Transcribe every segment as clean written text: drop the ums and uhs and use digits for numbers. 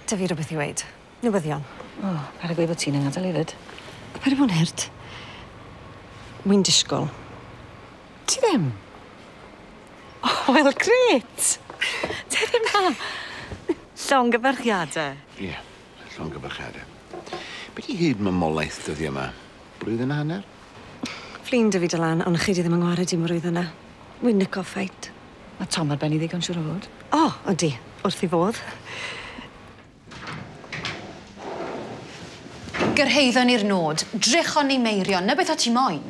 'Da fi rhywbeth i weud. Newyddion. O, paid â gweud bod ti'n yng ngadael hefyd. Paid â bod yn hurt. Wi'n disgwyl. Ti ddim? O, wel, grêt! Tere 'ma! Llongyfarchiade. Ie, llongyfarchiade. Be' 'di hyd mamolaeth dyddie 'ma? Blwyddyn a hanner? Flin 'da fi Dylan, ond chi 'di ddim yng ngwared i mor yna. Wi'n nico ffeit. Ma' Tom ar ben 'i ddigon siŵr o fod. O, ydi, wrth 'i fodd. Gyrhaeddon ni'r nod, drychon ni Meirion, 'na beth o' ti moyn?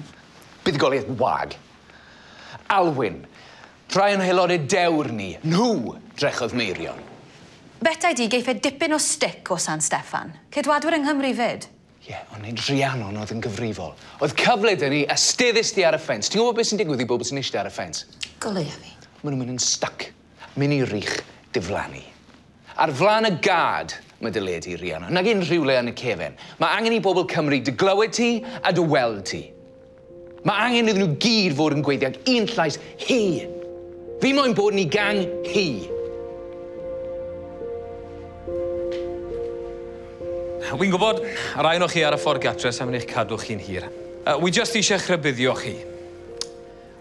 Buddugoliaeth wag. Alwyn, rhai o'n haelodau dewr ni, nhw drechodd Meirion. Betai di geiff e dipyn o stick o San Steffan. Ceidwadwyr yng Nghymru fyd. Ie, ond nid Rhiannon oedd yn gyfrifol. Oedd cyfle 'da ni, a steddist di ar y ffens. Ti'n gwybod beth sy'n digwydd i bobl sy'n eistedd ar y ffens? Goleia fi. Maen nhw'n mynd yn stuck. Mynd i rych diflannu. Ar flaen y gad mae dy le di, Rhiannon, nag unrhyw le yn y cefen. Mae angen i bobl Cymru dy glywed ti a dy weld ti. Mae angen iddyn nhw gyd fod yn gweithio ag un llais hi. Fi moyn bod yn ei gang hi. Wi'n gwybod, y rai ohonoch chi ar y ffordd gatre sa'n mynd i'ch cadw chi'n hir. Wi jyst eisiau rhybuddio chi.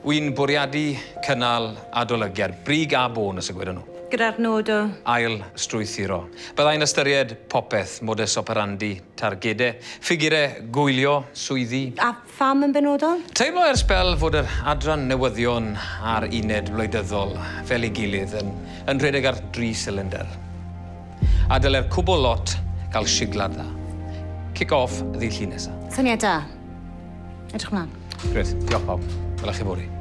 Wi'n bwriadu cynnal adolygiad, brig a bôn os y gwedon nhw. Gyda'r nod o? Ail strwythuro. Byddai'n ystyried popeth, modus operandi, targedau, ffigurau, gwylio, swyddi. A pham yn benodol? Teimlo ers sbel fod yr adran newyddion a'r uned wleidyddol fel ei gilydd yn, yn rhedeg ar dri cylinder. A dyle'r cwbl lot gael siglad dda. Kick off ddydd Llun nesa. Syniad da. Edrych mlaen. Grêt, diolch pawb. Wela chi fory.